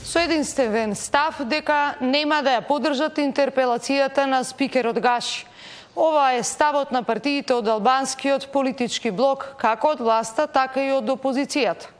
со единствен став дека нема да ја поддржат интерпелацијата на спикерот Гаши. Ова е ставот на партиите од албанскиот политички блок, како од власта, така и од опозицијата.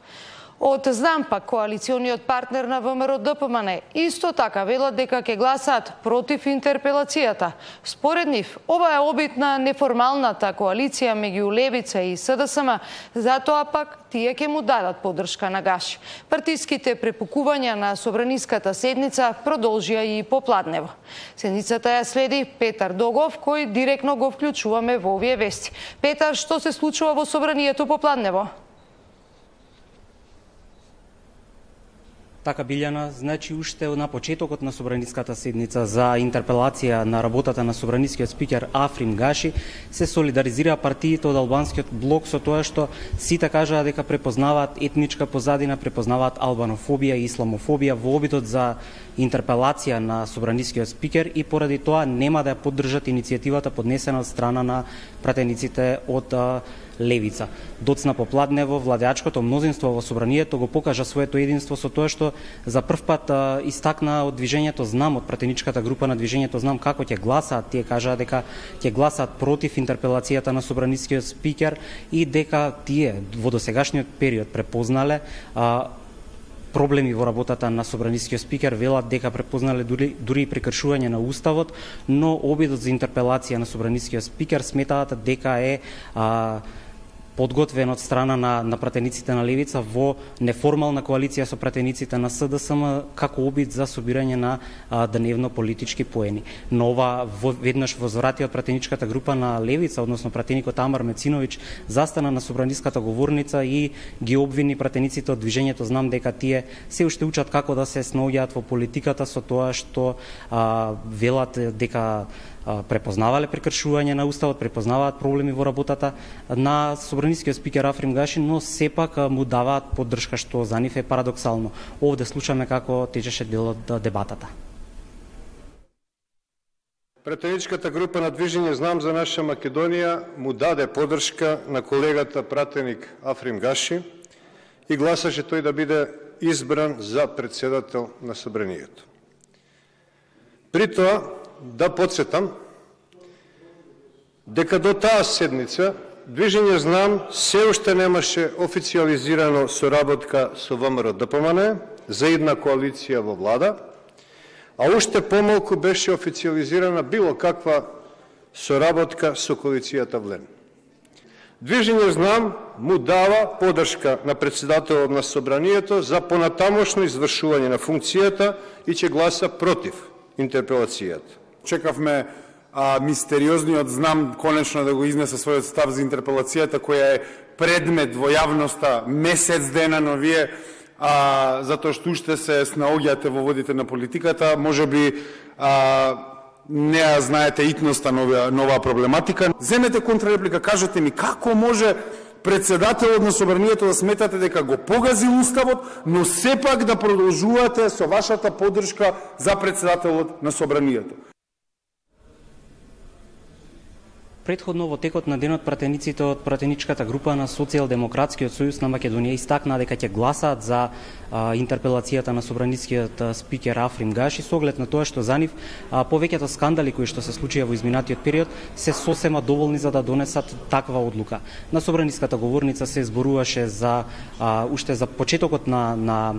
Од ЗНАМ пак коалициониот партнер на ВМРО ДПМН исто така велат дека ќе гласаат против интерпелацијата. Според нив, ова е обид на неформалната коалиција меѓу Левица и СДСМ, затоа пак тие ќе му дадат поддршка на Гаши. Партиските препукувања на собраниската седница продолжија и попладнево. Седницата ја следи Петар Догов, кој директно го вклучуваме во овие вести. Петар, што се случува во собранието попладнево? Така, Билјана, значи уште на почетокот на собраниската седница за интерпелација на работата на собранискиот спикер Африм Гаши се солидаризираа партиите од албанскиот блок со тоа што сите кажаа дека препознаваат етничка позадина, препознаваат албанофобија и исламофобија во обидот за интерпелација на собранискиот спикер и поради тоа нема да ја поддржат иницијативата поднесена од страна на пратениците од Левица. Доцна попладнево владеачкото мнозинство во собранието го покажа своето единство со тоа што за прв пат истакна од движењето ЗНАМ, од пратеничката група на движењето ЗНАМ, како ќе гласаат. Тие кажаа дека ќе гласаат против интерпелацијата на собранискиот спикер и дека тие во досегашниот период препознале проблеми во работата на собранискиот спикер, велат дека препознале дури и прекршување на уставот, но обидот за интерпелација на собранискиот спикер сметаат дека е подготвен од страна на пратениците на Левица во неформална коалиција со пратениците на СДСМ како обид за собирање на дневно политички поени. Но ова веднаш возвратиот пратеничката група на Левица, односно пратеникот Амар Мециновиќ, застана на собраниската говорница и ги обвини пратениците од движењето ЗНАМ дека тие се уште учат како да се снаоѓаат во политиката со тоа што велат дека препознавале прекршување на уставот, препознаваат проблеми во работата на собранискиот спикер Африм Гаши, но сепак му даваат поддршка, што за нив е парадоксално. Овде слушаме како течеше дел од дебатата. Пратеничката група на движење ЗНАМ за наша Македонија му даде поддршка на колегата пратеник Африм Гаши и гласаше тој да биде избран за председател на собранието. При тоа, да подсетам дека до таа седница движење ЗНАМ се уште немаше официализирано соработка со ВМРО ДПМН за една коалиција во влада, а уште помалку беше официализирана било каква соработка со коалицијата ВЛЕН. Движење ЗНАМ му дава поддршка на председателот на собранието за понатамошно извршување на функцијата и ќе гласа против интерпелацијата. Чекавме мистериозниот ЗНАМ конечно да го изнесе својот став за интерпелацијата, која е предмет во јавноста месец дена, но вие затоа што уште се снаоѓате во водите на политиката, можеби не ја знаете итноста на оваа проблематика. Земете контрареплика, кажете ми како може председателот на собранието да сметате дека го погази уставот, но сепак да продолжувате со вашата поддршка за председателот на собранието. Претходно во текот на денот пратениците од пратеничката група на Социјалдемократскиот сојуз на Македонија истакнаа дека ќе гласаат за интерпелацијата на собранискиот спикер Африм Гаши со оглед на тоа што за нив повеќето скандали кои што се случија во изминатиот период се сосема доволни за да донесат таква одлука. На собраниската говорница се зборуваше за уште за почетокот на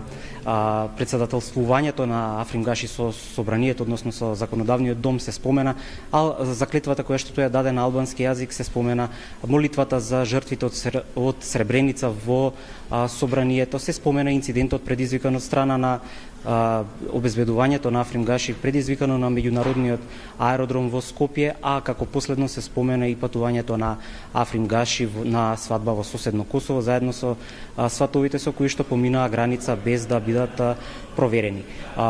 председателствувањето на Африм Гаши со собранието, односно со законодавниот дом се спомена, а за клетвата која што тој ја даде на албански јазик се спомена, молитвата за жртвите од Сребреница во собранието, се спомена инцидентот предизвикан од страна на обезбедувањето на Африм Гаши, предизвикано на меѓународниот аеродром во Скопје, а како последно се спомена и патувањето на Африм Гаши на свадба во соседно Косово, заедно со сватовите со кои што поминаа граница без да бидат проверени.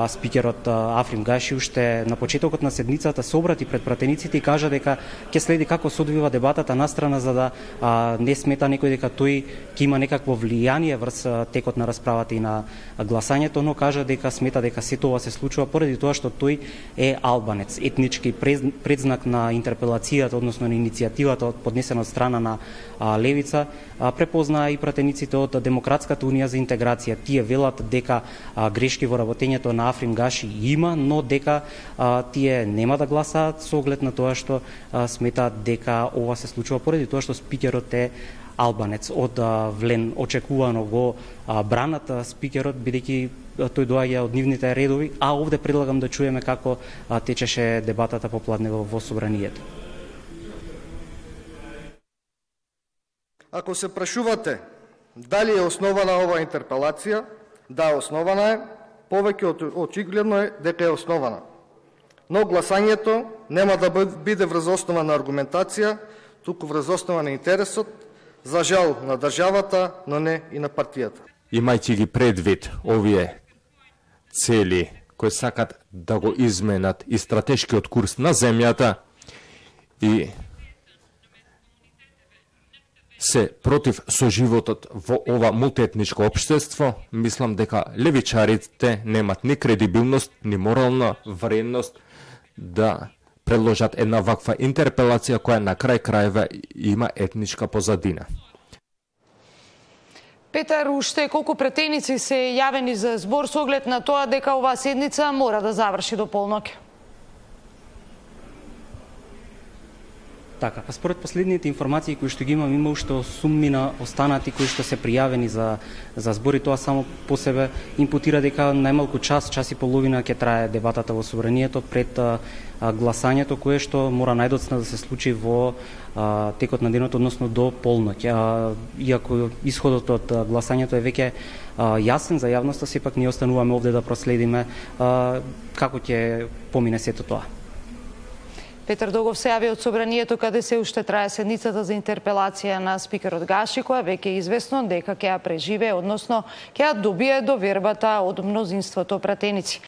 Спикерот Африм Гаши уште на почетокот на седницата се обрати пред пратениците и кажа дека ќе следи како се одвива дебатата настрана за да не смета некој дека тој ќе има некакво влијание врз текот на расправата и на гласањето, но кажа дека дека смета дека сето ова се случува поради тоа што тој е албанец. Етнички предзнак на интерпелацијата, односно на иницијативата поднесена од страна на Левица, препознаа и пратениците од Демократската унија за интеграција. Тие велат дека грешки во работењето на Африм Гаши има, но дека тие нема да гласаат со оглед на тоа што сметаат дека ова се случува поради тоа што спикерот е албанец. Од Влен очекувано го бранат спикерот, бидејќи тој доаѓа од нивните редови, а овде предлагам да чуеме како течеше дебатата попладнево во собранието. Ако се прашувате дали е основана оваа интерпелација, да, основана е, повеќе од очигледно е дека е основана. Но гласањето нема да биде врз основа на аргументација, туку врз основа на интересот, за жал на државата, но не и на партијата. Имајќи ги предвид овие цели кои сакат да го изменат и стратешкиот курс на земјата и се против соживотот во ова мултиетничко општество, мислам дека левичарите немат ни кредибилност, ни морална вредност да предложат една ваква интерпелација која на крај крајва има етничка позадина. Петар, уште колку претеници се јавени за збор со оглед на тоа дека оваа седница мора да заврши до полноќ? Така, па според последните информации кои што ги имам, има уште 8 мина останати кои што се пријавени за збори. Тоа само по себе импутира дека најмалку час и половина ќе трае дебатата во собранието пред гласањето, кое што мора најдоцна да се случи во текот на денот, односно до полноќ. Иако исходот од гласањето е веќе јасен за јавноста, сепак ние остануваме овде да проследиме како ќе помине сето тоа. Петар Догов се јави од собранието каде се уште трае седницата за интерпелација на спикерот Гаши, која веќе е известно дека ќе ја преживее, односно ќе ја добие довербата од мнозинството пратеници.